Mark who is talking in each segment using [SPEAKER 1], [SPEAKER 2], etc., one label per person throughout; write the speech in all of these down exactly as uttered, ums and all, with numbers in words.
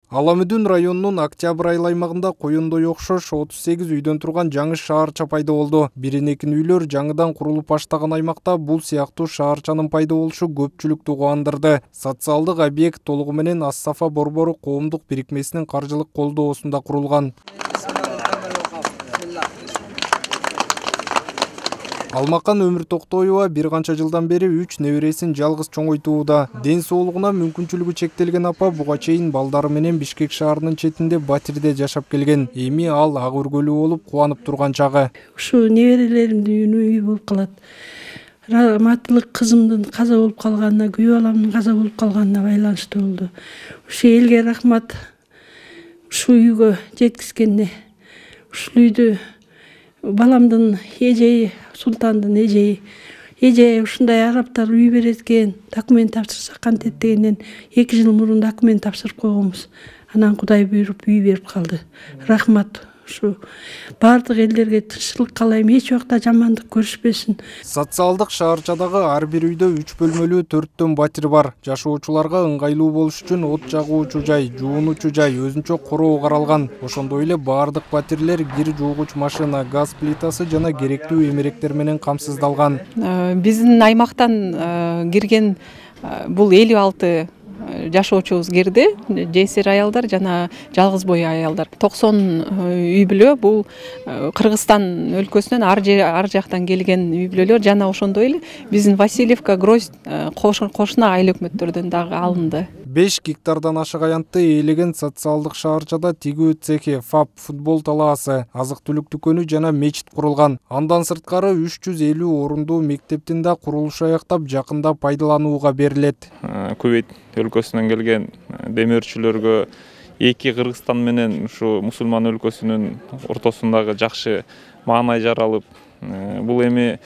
[SPEAKER 1] Аламүдүн районунун Октябрь айыл аймагында коюндой окшош отуз сегиз үйдөн турган жаңы шаарча пайда болду. Биринекин үйлөр жаңыдан курулуп баштаган аймакта бул сыяктуу шаарчанын пайда болушу көпчүлүктү кубандырды. Социалдык объект толугу менен Ас-Сафа борбору коомдук бирикмесинин каржылык колдоосунда курулган. Алмакан Өмүр Токтоева бир канча жылдан бери үч небересин жалгыз чоңойтууда. Ден соолугуна мүмкүнчүлүгү чектелген апа буга чейин балдары менен Бишкек шаарынын четинде батирде жашап келген. Эми ал ак өргөлүү болуп кубанып турган чагы.
[SPEAKER 2] Ушу неберелеримдин үйү болуп калат. Раматтылык кызымдын каза болуп калганына, күйөө баламдын каза болуп калганына байланыштуу болду. Ушу элге рахмат. Ушу үйгө жеткизгенине. Ушул үйдү баламдын эжеи, Султандын эжеи, эже ушундай араптар үй берет экен, документ тапшырсак кантет дегенден эки жыл мурун документ тапшырып койгонбуз. Анан Кудай буйруп үй берип калды. Рахмат. Ушу бардык элдерге тынччылык каалайм, эч убакта жамандык көрүшпөсүн.
[SPEAKER 1] Социалдык шаарчадагы ар бир үйдө үч бөлмөлүү төрттөн батир бар. Жашоочуларга ыңгайлуу болуш үчүн от жагуучу жай, жуунуучу жай, өзүнчө короо каралган. Ошондой эле бардык батирлер кир жуугуч машина, газ плитасы жана керектүү эмеректер менен камсыздалган.
[SPEAKER 3] Биздин аймактан кирген бул элүү алты жашоочубуз кирди. Жесир аялдар жана жалгыз бой аялдар. токсон үй бүлө бул Кыргызстан өлкөсүнөн ар жактан келген үй бүлөлөр жана ошондой эле биздин Васильевка, Грозь кошуна айыл өкмөттөрдөн дагы алынды.
[SPEAKER 1] беш гектардан ашык аянтты ээлеген социалдык шаарчада тигүү цехи, ФАП, футбол талаасы, азык-түлүк дүкөнү жана мечит курулган. Андан сырткары үч жүз элүү орундуу мектептин да курулушу аяктап жакында пайдаланууга берилет.
[SPEAKER 4] Кувейт өлкөсүнөн келген демөөрчүлөргө эки Кыргызстан менен ушу мусулман өлкөсүнүн ортосундагы жакшы маанай жаралып, бул эми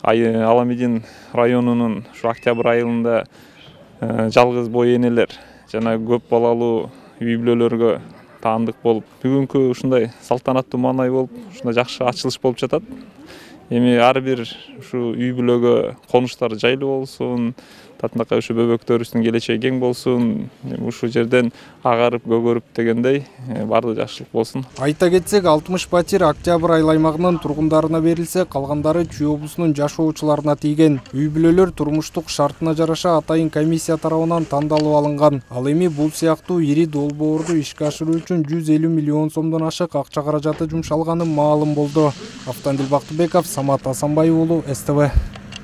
[SPEAKER 4] Аламедин районунун ушу Октябрь айылында жалгыз бой энелер жана көп балалуу үй бүлөлөргө таандык болуп, бүгүнкү ушундай салтанаттуу маанай болуп, ушундай жакшы ачылыш болуп жатат. Эми ар бир ушу үй бүлөгө конуштар жайлуу болсун, татынакай ушу бөбөктөрүбүздүн келечеги кең болсун, ушу жерден агарып көгөрүп дегендей баардыгы жакшылык болсун.
[SPEAKER 1] Айта кетсек, алтымыш батир Октябрь айыл аймагынын тургундарына берилсе, калгандары Чүй облусунун жашоочуларына тийген. Үй бүлөлөр турмуштук шартына жараша атайын комиссия тарабынан тандалып алынган. Ал эми бул сыяктуу ири долбоорду ишке ашыруу үчүн жүз элүү миллион сомдон ашык акча каражаты жумшалганы маалым болду. Автандил Бактыбеков, Самат Асанбай уулу, С Т В.